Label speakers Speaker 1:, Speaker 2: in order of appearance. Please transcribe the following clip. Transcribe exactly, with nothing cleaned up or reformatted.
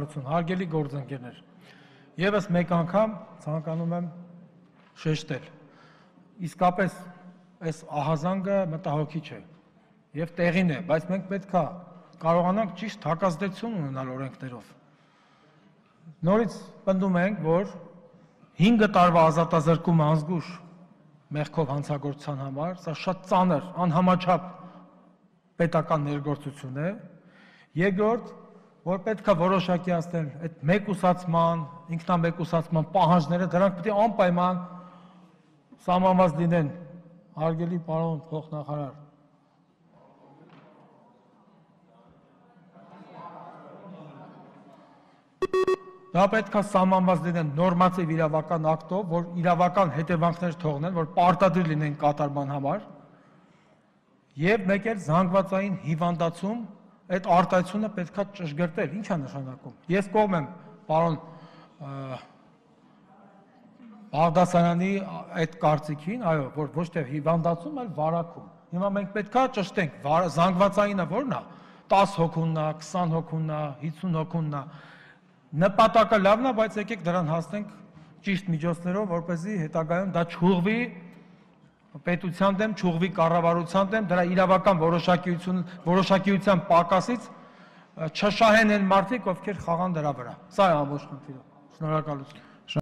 Speaker 1: Հարգելի գործընկերներ, եւս մեկ անգամ ցանկանում եմ շեշտել, իսկապես այս ահազանգը մտահոգիչ է եւ տեղին է, բայց մենք պետք է կարողանանք ճիշտ հակազդեցություն ունենալ օրենքներով։ Նորից պնդում ենք, որ հինգ տարվա ազատազրկումը անզգուշ մեղքով հանցագործության համար, սա շատ ծանր, անհամաչափ պետական ներգործություն է։ Երկրորդ, որ պետք է որոշակիացնել այդ մեկուսացման, ինքնամեկուսացման պահանջները, դրանք պետք է անպայման սահմանված լինեն, հարգելի պարոն փոխնախարար։ Դա պետք է սահմանված լինեն նորմատիվ իրավական ակտով, որ իրավական հետևանքներ թողնեն, որ պարտադիր լինեն կատարման համար, եւ մեկ էլ զանգվածային հիվանդացում այդ արտահայտությունը պետք է ճշգրտել, ինչ է նշանակում։ Ես կողմ եմ պարոն Բաղդասարյանի այդ կարծիքին, այո, որ ոչ թե հիվանդացում, այլ վարակում։ Հիմա մենք պետք է ճշտենք, զանգվածայինը որն է, տասը հոգունն է, քսան հոգունն է, հիսուն հոգունն է։ Նպատակը լավն է, բայց եկեք դրան հասնենք ճիշտ միջոցներով, որպեսզի հետագայում դա չուղղվի պետության դեմ, չուղղվի կառավարության դեմ, դրա իրավական որոշակիություն, որոշակիության պակասից չշահեն են մարդիկ, ովքեր խաղան դրա վրա։ Սա է ամբողջ խնդիրը։ Շնորհակալություն։